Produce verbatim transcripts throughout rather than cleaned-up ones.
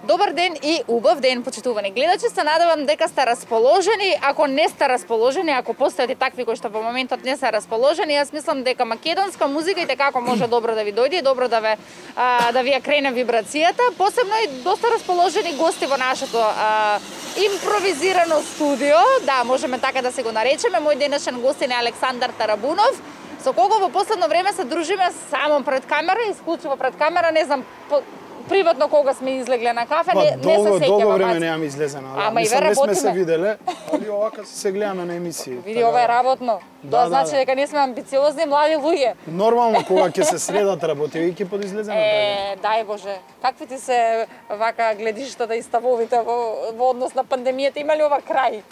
Добар ден и убав ден, почитувани гледачи. Се надевам дека сте расположени. Ако не сте расположени, ако постојат и такви кои што во моментот не се расположени, јас мислам дека македонска музика и како може добро да ви дојде, добро да ве а, да ви ја крене вибрацијата. Посебно и доста расположени гости во нашето а, импровизирано студио. Да, можеме така да се го наречеме. Мој денешен гостин е Александар Тарабунов, со кого во последно време се дружиме само пред камера, исклучиво пред камера, не знам, по, приватно кога сме излегле на кафе, па, не, не долго, се сеќавам. Долго време немам излезено. Да. Ама и ве не сме се работиме. виделе, али овака се гледаме на емисии. Види, ова е работно. Да, Тоа да, значи да. дека ние сме амбициозни млади луѓе. Нормално кога ќе се средат работи, ќе подизлеземе. Е, дај Боже. Какви ти се вака гледиштата и ставовите во, во однос на пандемијата? Има ли ова крај?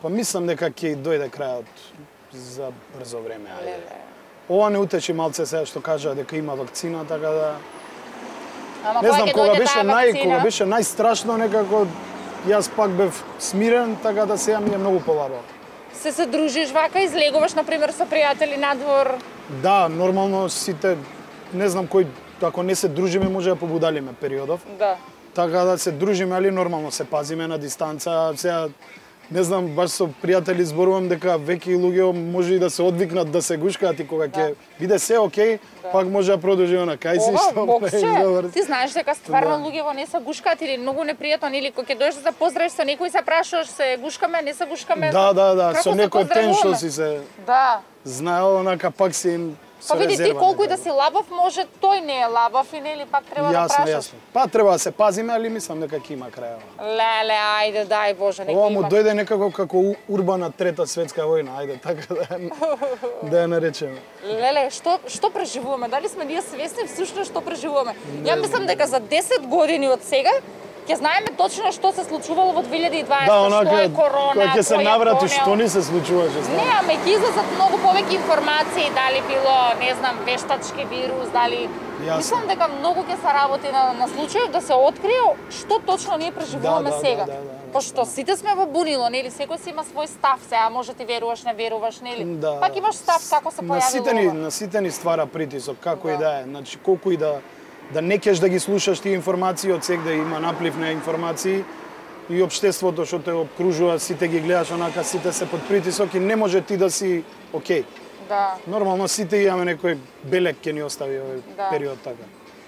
Па мислам дека ќе дојде крајот за брзо време. Ајде. Ова не утеши малце сега што кажа дека има вакцина, така да Ама не знам, кога беше нај вакцина? кога беше најстрашно, некако јас пак бев смирен, така да сега ми е многу полабо. Се се дружиш вака, излегуваш например со пријатели надвор? Да, нормално сите, не знам кој, ако не се дружиме може да побудалиме периодов. Да. Така да се дружиме, али нормално се пазиме на дистанца. Сега не знам, баш со пријатели зборувам дека веќе луѓе може и да се одвикнат да се гушкаат и кога ќе биде се окей, Да. пак може да продолжиме на кај си Ова, што боксе, е добар. ти знаеш дека стварно Да. луѓе во не се гушкаат или многу непријатно, или кога ќе дојдеш да се поздравиш со некој се прашуваш се гушкаме, не се гушкаме. Да, да, да, Како со се некој тен што поздравуваме? си се Да. знаел, онака пак си им со Па види, ти резерва колку и да некако. си лабав, може тој не е лабав и нели пак треба да Јасно, прашаш. јасно. Па треба да се пазиме, али мислам дека ќе има крај. Леле, ајде, дај Боже, нека Ова му има. дојде некако како у- урбана трета светска војна, ајде така да ја- да ја наречеме. Леле, што што преживуваме? Дали сме ние свесни всушност што преживуваме? Ја мислам дека за десет години од сега ќе знаеме точно што се случувало во две илјади и дваесета, Да, што онака е корона, кога ќе се кој е наврати донел. што ни се случуваше, Не, знам. ама ќе излезат многу повеќе информации, дали било, не знам, вештачки вирус, дали... Јасно. Мислам дека многу ќе се работи на, на случајот да се открие што точно ние преживуваме Да, да, сега. да, да, да. Пошто сите сме во бунило, нели? Секој си има свој став, сега може ти веруваш, не веруваш, нели? Да. Пак имаш став како се На појавило сите ни, ова. на сите ни ствара притисок, како Да. и да е. Значи колку и да да не кеш да ги слушаш тие информации, од сега да има наплив на информации и општеството што те обкружува, сите ги гледаш онака, сите се под притисок и не може ти да си окей. Да. Нормално сите имаме некој белек ќе ни остави овој Да. период така.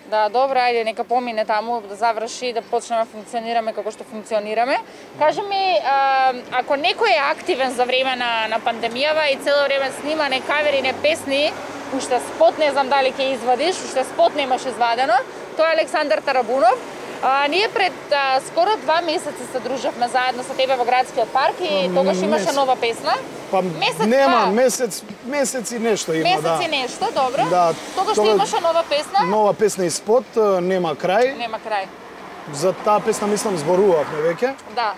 Да, добро, ајде, нека помине таму, да заврши и да почнеме да функционираме како што функционираме. Кажи ми, а, ако некој е активен за време на, на пандемијава и цело време снима не кавери, не песни, уште спот, не знам дали ќе извадиш, уште спот немаш извадено, тоа е Александар Тарабунов. А, ние пред а, скоро два месеци се дружевме заедно со тебе во градскиот парк и тогаш имаше месец. нова песна. Па Месец, нема, два. месец, месец и нешто има, Месец да. и нешто, добро. Да, Тогаш тога- имаше нова песна, Нова песна и спот, нема крај. нема крај. За таа песна мислам зборувавме веќе. Да,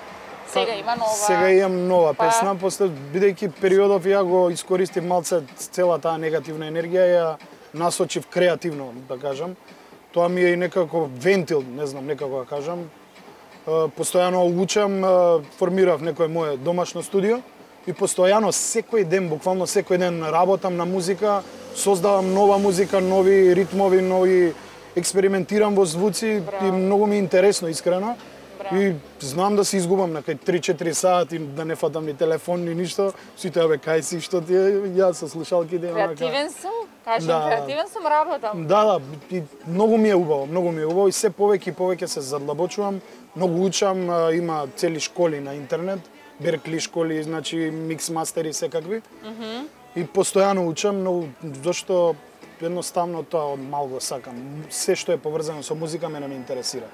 сега има нова. Сега имам нова Па. песна, после бидејќи периодов ја го искористив малце цела таа негативна енергија, ја насочив креативно, да кажам. Тоа ми е и некако вентил, не знам, некако да кажам. Е, Постојано учам, е, формирав некој мое домашно студио и постојано секој ден, буквално секој ден работам на музика, создавам нова музика, нови ритмови, нови експериментирам во звуци. Браво. И многу ми е интересно, искрено. Браво. И знам да се изгубам на кај три-четири сати, да не фатам ни телефон ни ништо. Сите абе кај си, што ти е, ја со слушалките онака. Креативен сум, кажем, Да, да. креативен сум, работам. Да, да, и многу ми е убаво, многу ми е убаво и се повеќе и повеќе се задлабочувам, многу учам, а, има цели школи на интернет, Беркли школи, значи микс мастери секакви. Mm -hmm. И постојано учам, но зашто едноставно тоа од мал го сакам. Се што е поврзано со музика мене ме интересира.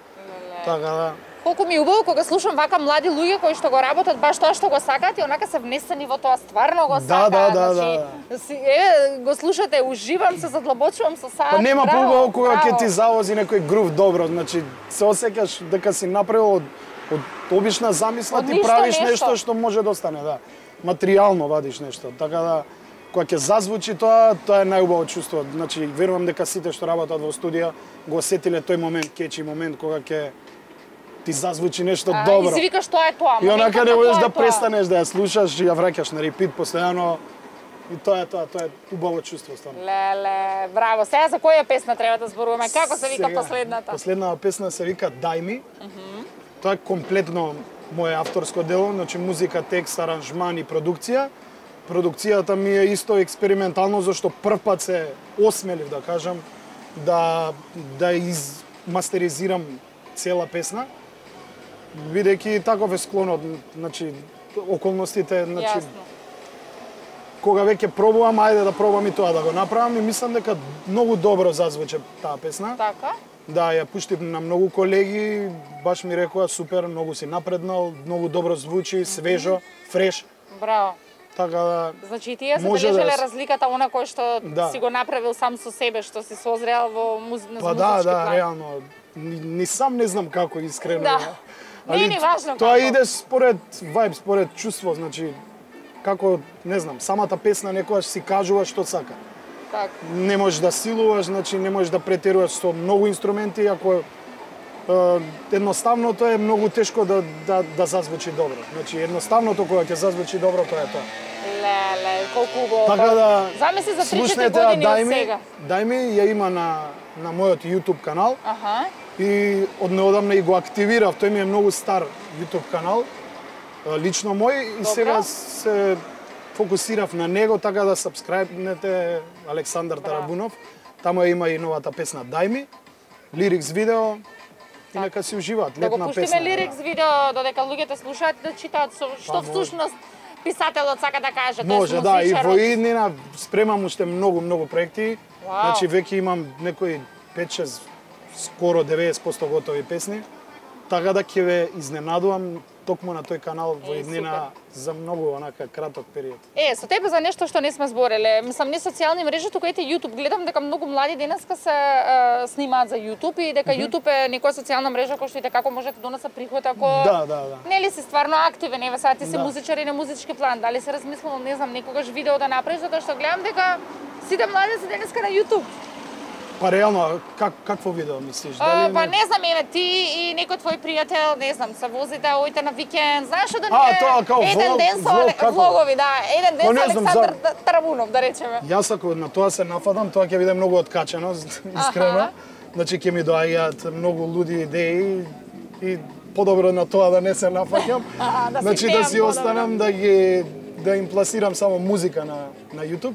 Така да. Колку ми е убаво кога слушам вака млади луѓе кои што го работат баш тоа што го сакаат и онака се внесени во тоа, стварно го Да, сакаат. да, да, значи, си, е, го слушате, уживам, се задлабочувам со саат. Па нема браво, поубаво кога ќе браво. ти завози некој грув добро, значи се осеќаш дека си направил од, од обична замисла, Од ти ништо правиш нешто. нешто што може да остане, да. Материјално вадиш нешто, така да кога ќе зазвучи тоа, тоа е најубаво чувство. Значи верувам дека сите што работат во студија го осетиле тој момент, кечи момент кога ќе ти зазвучи нешто А, добро. И си викаш тоа е тоа. И онака моментот не на можеш тоа е да тоа. престанеш да ја слушаш и ја враќаш на репит постојано. И тоа е тоа, тоа е убаво чувство стварно. Леле, браво. Сега за која песна треба да зборуваме? Како се вика Сега, последната? Последната песна се вика Дај ми. Uh -huh. Тоа е комплетно моje авторско дело, значи музика, текст, аранжман и продукција. Продукцијата ми е исто експериментално, зашто прв пат се осмелив, да кажам, да да измастеризирам цела песна, бидејќи таков е склонот, значи околностите, значи Јасно. Кога веќе пробувам, ајде да пробам и тоа да го направам и мислам дека многу добро зазвуче таа песна. Така? Да, ја пуштив на многу колеги, баш ми рекоа супер, многу си напреднал, многу добро звучи, свежо, фреш. Браво. Така да Значи и тие се може бележеле да- разликата она кој што Да. си го направил сам со себе, што си созрел во муз... на па да, музички да, план. реално. Ни, ни сам не знам како искрено. Да. Али Не е ни важно тоа како. иде според вајб, според чувство, значи како, не знам, самата песна некогаш си кажува што сака. Така. Не можеш да силуваш, значи не можеш да претеруваш со многу инструменти, ако е, едноставното е многу тешко да, да, да зазвучи добро. Значи едноставното кога ќе зазвучи добро, тоа е тоа. Леле, колку убаво. Така да Замисли за три-четири слушнете ја, години Дај од ми, сега. Дај ми ја има на на мојот YouTube канал Аха. и од неодамна и го активирав. Тој ми е многу стар YouTube канал, е, лично мој и Добро. сега се фокусирав на него, така да сабскрајбнете Александар Браво. Тарабунов. Таму ја има и новата песна Дај ми, лирикс видео и нека си уживаат. Да го Летна пуштиме песна. лирикс видео додека луѓето слушаат и да читаат со, што Па, може. всушност писателот сака да каже, Може, тоест да, и музичарот. во иднина спремам уште многу, многу проекти. Вау. Значи, веќе имам некои пет-шест, скоро деветдесет проценти готови песни. Така да ќе ве изненадувам токму на тој канал во Е, иднина за многу онака краток период. Е, со тебе за нешто што не сме збореле. Мислам, не социјални мрежи, туку ете YouTube. Гледам дека многу млади денеска се е, снимаат за YouTube и дека YouTube е некоја социјална мрежа која што и како може да доноса приход ако Да, да, да. нели си стварно активен, еве сега ти си Да. музичар и на музички план. Дали си размислувал, не знам, некогаш видео да направиш, затоа што гледам дека сите млади се денеска на YouTube. Па реално, как, какво видео мислиш? А, Дали па не знам, еве ти и некој твој пријател, не знам, се возите оите на викенд, знаеш што да не А, е тоа као еден влог- ден со влог, Але- како? влогови, да, еден ден Па со не знам, Александар за- Тарабунов, да речеме. Јас ако на тоа се нафадам, тоа ќе биде многу откачено, искрено. Аха. Значи ќе ми доаѓаат многу луди идеи и подобро на тоа да не се нафаќам. Аха, да си значи да пеам си подобро. останам да ги да им пласирам само музика на на YouTube.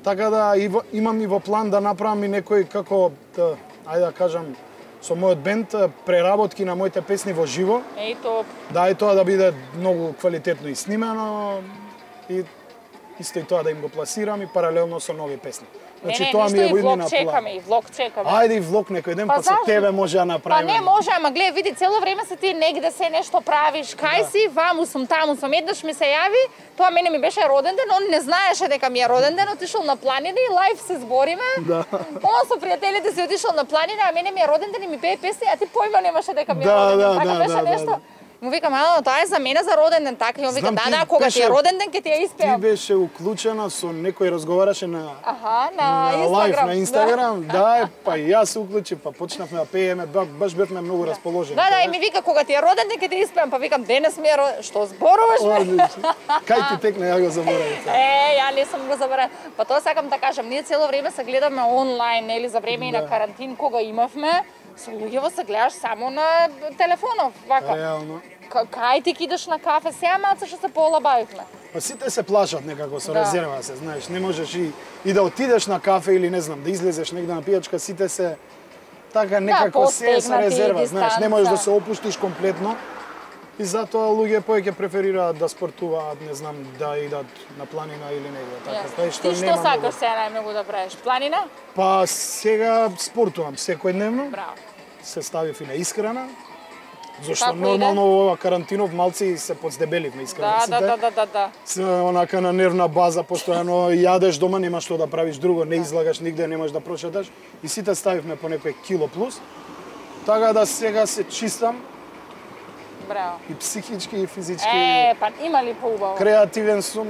Така да и во, имам и во план да направам и некој како да, ајде да кажам со мојот бенд преработки на моите песни во живо. Еј топ. Да и тоа да биде многу квалитетно и снимено и исто и тоа да им го пласирам и паралелно со нови песни. Значи не, не, тоа ми е ништо во и влог иднина план. чекаме, и влог чекаме. Ајде и влог некој ден, Па па, со зашто? тебе може да Па направиме. не може, ама гледа, види, цело време се ти негде се нешто правиш, кај Да. си, ваму сум, таму сум. Еднаш ми се јави, тоа мене ми беше роден ден, он не знаеше дека ми е роден ден, отишол на планина и лайв се збориме. Да. Он со пријателите си отишол на планина, а мене ми е роден ден и ми пее песни, а ти појма немаше дека ми е Да, роден ден. да, Така да, беше да, да, нешто. да. Му викам, ало, тоа е за мене за роден ден, така. И он вика, Знам, да, ти да, кога ти е беше- роден ден, ќе ти ја Ти испеам. беше уклучена со некој разговараше на Аха, на, на лайв Инстаграм. на Инстаграм, да, е, па и јас се уклучив, па почнавме да пееме, ба- баш бевме многу расположени. Да, да, и ми вика, кога ти е роден ден, ќе ти испеам. Па викам, денес ми е роден. Што зборуваш, бе? Одлично. Кај ти текне, ја го заборавив. Е, ја не сум го забравила. Па тоа сакам да кажам, ние цело време се гледаме онлайн, нели, за време и на Да. карантин кога имавме, со луѓево се гледаш само на телефонов, вака. Реално. К- Кај ти кидаш на кафе, сега малце што се поолабавивме. Па сите се плашат некако со Да. резерва се, знаеш, не можеш и, и да отидеш на кафе или не знам, да излезеш негде на пијачка, сите се така некако се е со постегнати, резерва, знаеш, не можеш да дистанца. се опуштиш комплетно. И затоа луѓе повеќе преферираат да спортуваат, не знам, да идат на планина или негде, така. Јасно. Тај што Ти што нема сакаш многу. сега најмногу да правиш? Планина? Па сега спортувам секојдневно, Браво. се ставив и на исхрана. Зошто Како нормално во ова карантинов малци се подздебеливме Да, исхраниците. да, да, да, да, да. Се онака на нервна база, постојано јадеш дома, нема што да правиш друго, не излагаш нигде, немаш да прошеташ. И сите ставивме по некој кило плюс. Така да сега се чистам Браво. и психички и физички. Е, па има ли поубаво? Креативен сум,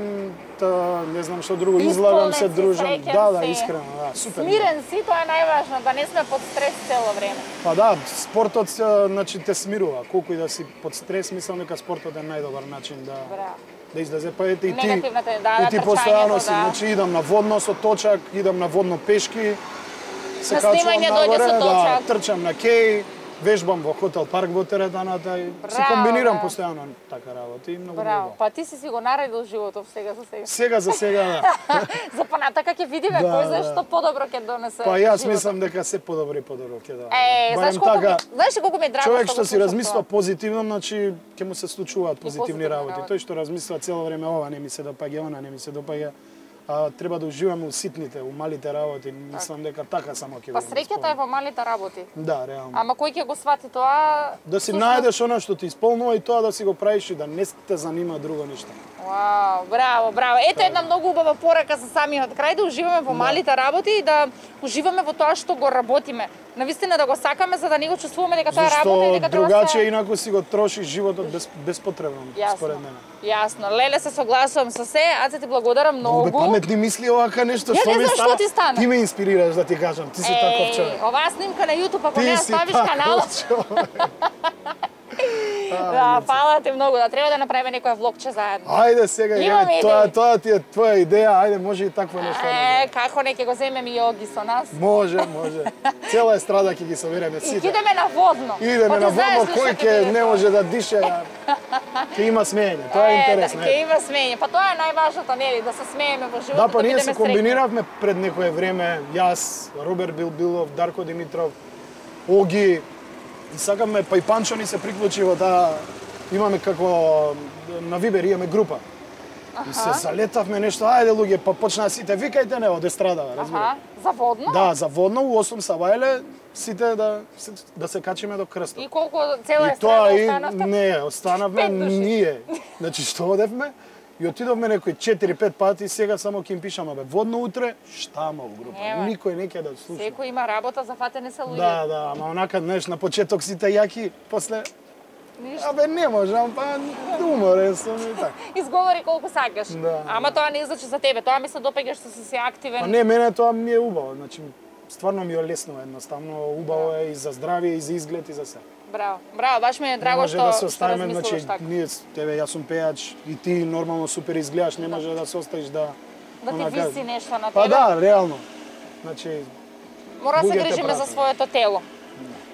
та, не знам што друго, Исполнет излагам се, си, дружам. среќен Да, да, си. искрено, да, супер. Смирен си, тоа е најважно, да не сме под стрес цело време. Па да, спортот се, значи те смирува. Колку и да си под стрес, мислам дека спортот е најдобар начин да Браво. да излезе, па ете и ти. Негативната, да, и ти да, постојано трчањето, си, да. значи идам на водно со точак, идам на водно пешки. Се На качувам снимање дојде нагоре, со точак. да, трчам на кеј, вежбам во хотел парк во теретаната и си Браво, комбинирам да. постојано така работи и многу Браво, добро. па ти си си го наредил животот сега за сега. Сега за сега да. За понатака ќе видиме Да, кој знае да. што подобро ќе донесе. Па јас животот. мислам дека се подобро и подобро ќе да. Е, знаеш Барем колку така, ми, знаеш ли колку ми е драго човек што што го си слушам размисла тоа? позитивно, значи ќе му се случуваат позитивни позитивни работи. работи. Тој што размисла цело време ова не ми се допаѓа, она не ми се допаѓа, а треба да уживаме у ситните, у малите работи. Мислам дека така само ќе Па го среќата е во малите работи. Да, реално. Ама кој ќе го свати тоа? Да си всушност- најдеш она што ти исполнува и тоа да си го правиш и да не те занима друго ништо. Вау, браво, браво. Ето една многу убава порака за самиот крај, да уживаме во малите работи и да уживаме во тоа што го работиме. Навистина да го сакаме за да не го чувствуваме дека тоа е работа и Зашто дека треба другаче се... инаку си го трошиш животот без, беспотребно, Јасно. според мене. Јасно. Леле, се согласувам со се. Аце ти благодарам Многу бе многу. паметни мисли овака нешто Ја што не ми знам што ти стана. Ти ме инспирираш да ти кажам, ти си таков човек. оваа снимка на YouTube, ако не ја Ти си ставиш канал, таков човек. да, фала ти многу, да треба да направиме некоја влогче заедно. Ајде сега, Имаме ја, тоа, идеи. тоа ти е твоја идеја, ајде може и такво нешто. да Е, направиме. како не ќе го земеме јоги со нас? Може, може. Цела естрада ќе ги собереме И сите. идеме на водно. Идеме Па ти на знаеш водно, ли кој што ќе ќе биде не тоа? може да дише, ќе има смеење. Тоа е интересно. Да, ќе има смење. Па тоа е најважното, нели, да се смееме во животот, Да, па да ние бидеме се среќни. комбиниравме пред некое време, јас, Роберт Билбилов, Дарко Димитров, Оги, и сакаме, па и Панчо ни се приклучи во таа, имаме како, на Вибер имаме група. И се залетавме нешто, ајде луѓе, па почнаа сите, викајте не од естрадава, разбира. Аха, за водно? Да, за водно у осум сабајле, сите да, се- да се качиме до крстот. И колку цела И естрада тоа и останавте? не, останавме Пет души. ние. Значи што одевме и отидовме некои четири-пет пати, сега само ќе им пишаме бе водно утре, штама у група. Нема. Никој не ќе да слуша. Секој има работа, зафатени се луѓе. Да, да, ама онака, знаеш, на почеток сите јаки, после Ништо. абе не можам, па уморен сум и така. Изговори колку сакаш. Да, Ама тоа не значи за тебе, тоа ми се допаѓа што си си активен. Па не, мене тоа ми е убаво, значи стварно ми е лесно едноставно, убаво е и за здравје, и за изглед, и за се. Браво, браво, баш ми е Не драго може што да се што оставиме, размислуваш значи, така. ние, с тебе, јас сум пејач и ти нормално супер изгледаш, не може да се оставиш да... Да ти онака- виси нешто на тебе. Па да, реално. Значи, Мора да се луѓето грижиме за пратат. своето тело.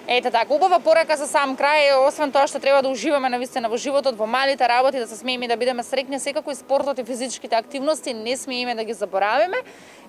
Ете така, убава порака за сам крај, освен тоа што треба да уживаме навистина во животот, во малите работи, да се смееме и да бидеме среќни, секако и спортот и физичките активности не смееме да ги заборавиме.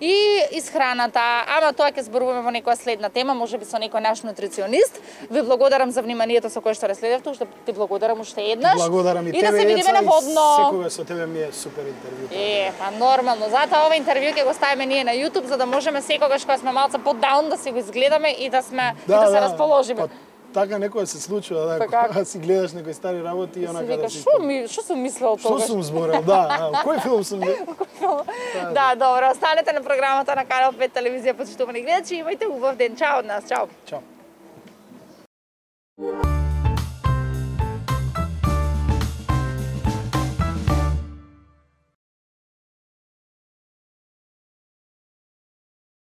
И исхраната, ама тоа ќе зборуваме во некоја следна тема, можеби со некој наш нутриционист. Ви благодарам за вниманието со кое што разследевте, уште ти благодарам уште еднаш. благодарам и, и тебе, да се видиме Еца, на и водно. секогаш со тебе ми е супер интервју. Е, па нормално. Затоа ова интервју ќе го ставиме ние на YouTube, за да можеме секогаш кога сме малце по-даун да си го изгледаме и да сме и да се расположиме. Па, така некоја се случува, да, Така. кога си гледаш некои стари работи и Си онака вика, да си... што ми, што сум мислел Што тогаш? сум зборел, да, а, кој филм сум гледал? Да, добро, останете на програмата на Канал пет телевизија, почитувани гледачи, имајте убав ден. Чао од нас, чао. Чао.